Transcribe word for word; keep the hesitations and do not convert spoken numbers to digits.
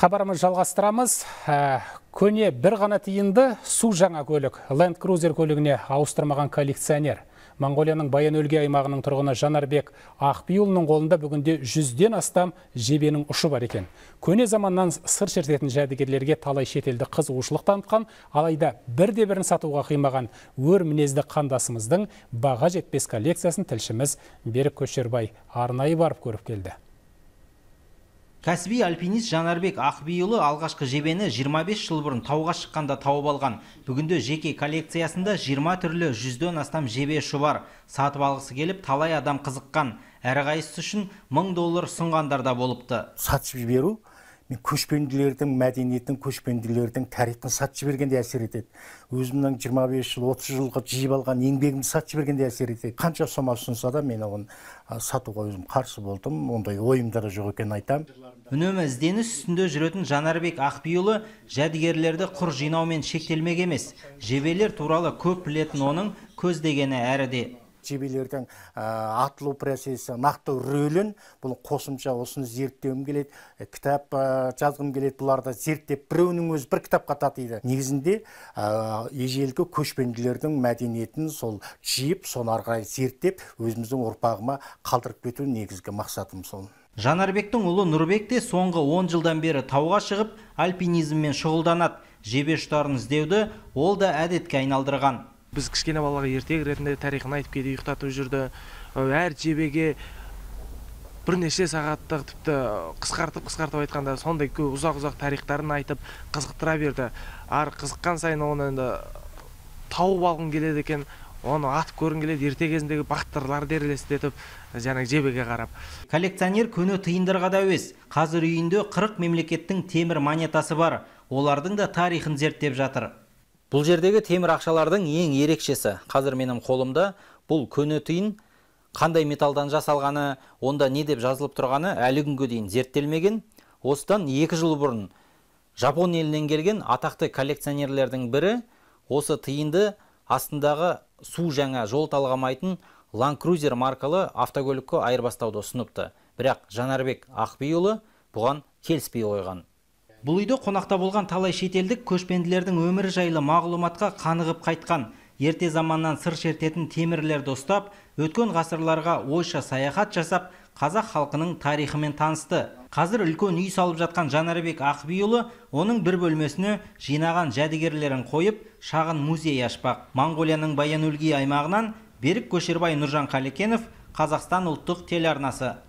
Хабарымыз жалғастырамыз. Көне бір ғана тиынды су жаңа көлік. Land Cruiser көлігіне ауыстырмаған коллекционер. Монғолияның Баян-Өлгей аймағының тұрғыны Жанарбек Ақбиұлының қолында бүгінде жүзден астам жебенің ұшы бар екен. Көне заманнан сыр шертетін жәдігерлерге талай шетелді қызығушылық танытқан, алайда бірде бірін сатуға қимаған өр мінезді қандасымыздың баға жетпес коллекциясын тілшіміз Берік Көшербай арнайы барып көріп келді. Кәсіби альпинист Жанарбек Ақбиұлы алғашқы жебені жиырма бес жыл бұрын тауға шыққанда тауып алған. Бүгінде жеке коллекциясында жиырма түрлі жүзден астам жебе ұшы бар. Сатып алғысы келіп, талай адам қызыққан. Әрқайсысы үшін мың доллар ұсынғандар да болыпты. Сатып жіберу мен көшпенділердің мәдениетін, көшпенділердің тарихын сатып жібергенде әсер етеді. Өзімнің жиырма бес жыл, отыз жылға жиып алған еңбегімді сатып жібергенде әсер етеді. Қанша сома ұсынса да мен оған сатуға өзім қарсы болдым. Ондай ойымда да жоқ екенін айтам. Үнемі ізденіс үстінде жүретін Жанарбек Ақбиұлы жәдігерлерді құр жинаумен шектелмек емес. Жебелер туралы көп білетін оның көздегені әріде. Жебелердің атылу процесі, нақты рөлін, бұл қосымша осыны зерттеуім келеді, кітап жазғым келеді, бұларды зерттеп, біреуінің өзі бір кітапқа татиды. Негізінде ежелгі көшпенділердің мәдениетін сол жиып, соны ары қарай зерттеп, өзіміздің ұрпағыма қалдырып кету негізгі мақсатым сол. Жанарбектің ұлы Нұрбек те соңғы он жылдан бері тауға шығып, альпинизммен шұғылданады. Жебе ұштарын іздеуді ол да әдетке айналдырған. Біз кішкене балаға ертегі ретінде тарихын айтып кейде ұйықтатып жүрді. Әр жебеге бірнеше сағаттық тіпті қысқартып қысқартып айтқанда сондай көп ұзақ-ұзақ тарихтарын айтып қызықтыра берді. Ар қызыққан сайын оны енді тауып алғым келеді екен, оны атып көргім келеді, ерте кезіндегі бақтырларды елестетіп, жаңағы жебеге қарап. Коллекционер көне тиындарға да әуес. Қазір үйінде қырық мемлекеттің темір монетасы бар. Олардың да тарихын зерттеп жатыр. Бұл жердегі темір ақшалардың ең ерекшесі. Қазір менің қолымда бұл көне тиын қандай металдан жасалғаны, онда не деп жазылып тұрғаны әлі күнге дейін зерттелмеген. Осыдан екі жыл бұрын Жапон елінен келген атақты коллекционерлердің бірі осы тиынды астындағы су жаңа жол талғамайтын Land Cruiser маркалы автокөлікке айырбастауды ұсыныпты. Бірақ Жанарбек Ақбиұлы бұған келіспей қойған. Бұл үйде қонақта болған талай шетелдік көшпенділердің өмірі жайлы мағлұматқа қанығып қайтқан. Ерте заманнан сыр шертетін темірлерді ұстап, өткен ғасырларға ойша саяхат жасап, қазақ халқының тарихымен танысты. Қазір үлкен үй салып жатқан Жанарбек Ақбиұлы оның бір бөлмесіне жинаған жәдігерлерін қойып, шағын музей ашпақ. Монғолияның Баян-Өлгей аймағынан Берік Көшербай, Нұржан Қалекенов, Қазақстан ұлттық телеарнасы.